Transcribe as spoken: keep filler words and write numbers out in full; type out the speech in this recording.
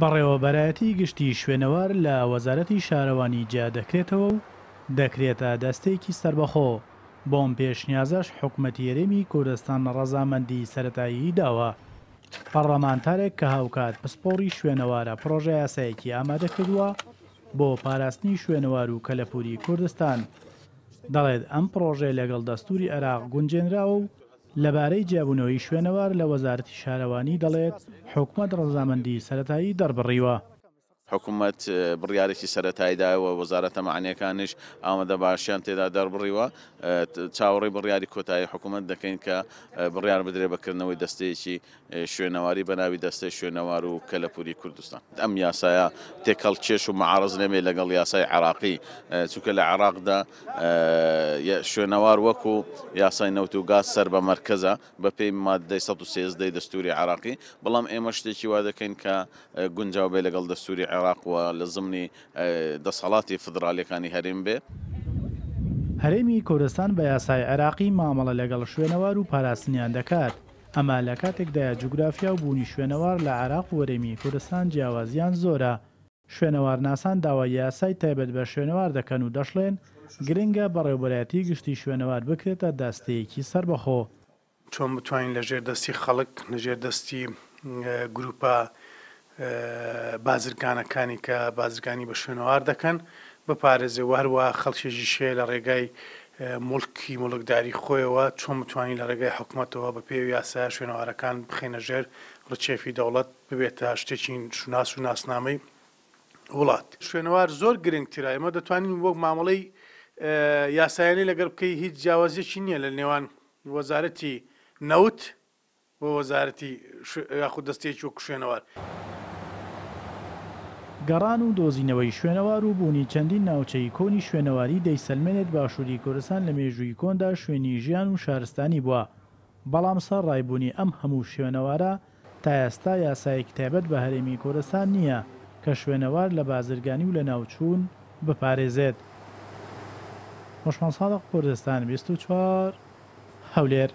بەڕێوەبەرایەتی گشتی شوێنەوار لە وەزارەتی شارەوانی جیا دەکرێتەوە و دەکرێتە دەستەیەکی سەربەخۆ، بۆ ئەم پێشنیازەش حکومەتی هەرێمی کوردستان ڕەزامەندی سەرەتایی داوە. پەڕڵەمانتارێک کە هاوکات پسپۆڕی شوێنەوارە پڕۆژەیاسایەکی ئامادە کردووە بۆ پاراستنی شوێنەوار و کەلەپوری کوردستان، دەڵێت ئەم پڕۆژەیە لەگەڵ دەستوری عێراق گونجێنراوە و لەبارەی جیابوونەوەی شوێنەوار لە وەزارەتی شارەوانی دەڵێت حکومەت ڕەزامەندی سەرەتایی دەربڕیوە. حکومەت بڕیارێکی سەرەتایی داوە، وەزارەتە مەعنیەکانیش ئامادە باشیان تێدا دەربڕیوە. چاوەڕێی بڕیاری کۆتایی حکومەت دەکەین کە بڕیار بدرێت بە کردنەوەی دەستەیەکی شوێنەواری بە ناوی دەستەی شوێنەوار و کەلەپوری کوردستان. ئەم یاسایە تێکەڵ کێش و معارض نەبێت لەگەڵ یاسای عێراقی، چونکە لە عێراقدا شوێنەوار وەکو یاسای نەوت و گاز سەر بە مەرکەزە بەپێی مادەی سەد و سێزدەی دەستوری عێراقی، بەڵام ئێمە شتێکی وا دەکەین کە گونجاو بێ لەگەڵ دەستوری عێراق و لە زمنی دەسەڵاتی فدرالیەکانی هەرێم بێ. هەرێمی کوردستان بە یاسای عێراقی مامەڵە لەگەڵ شوێنەوار و پاراستنیان دەکات، ئەما لە کاتێکدایە جوگرافیا و بوونی شوێنەوار لە عێراق و هەرێمی کوردستان جیاوازیان زۆرە. شوێنەوارناسان داوای یاسای تایبەت بە شوێنەوار دەکەن و دەشڵێن گرنگە بەڕێوەبەرایەتی گشتی شوێنەوار بکرێتە دەستەیەکی سەربەخۆ. چۆن بتوانین لەژێر دەستی خەڵک، لەژێر دەستی گروپە بازرگانەکانی کە بازرگانی بە شوێنەوار دەکەن بپارێزێ و هەروە خەڵکێکیش هەیە لە ڕێگای مڵکی مڵکداری خۆیەوە چۆن بتوانین لە ڕێگای حکومەتەوە بە پێی یاسا شوێنەوارەکان بخەینە ژێر ڕچێفی دەوڵەت ببێتە شتێکی شوناس و ناسنامەی وڵات. شوێنەوار زۆر گرنگترە، ئێمە دەتوانین وەک مامەڵەی یاسایانەی لەگەڵ بکەی هیچ جیاوازیەکی نییە لە نێوان وەزارەتی نەوت و وەزارەتی یاخود دەستەیەکی وەک شوێنەوار. گەڕان و دۆزینەوەی شوێنەوار و بوونی چەندین ناوچەی کۆنی شوێنەواری دەیسەلمێنێت باشووری کوردستان لە مێژووی کۆندا شوێنی ژیان و شارستانی بووە، بەڵام سەر ڕایبوونی ئەم هەموو شوێنەوارە تا ئێستا یاسایەکی تایبەت بە هەرێمی کوردستان نییە کە شوێنەوار لە بازرگانی و لە ناوچوون بپارێزێت. هۆشمان سادق، کوردستان بیست و چوار، هەولێر.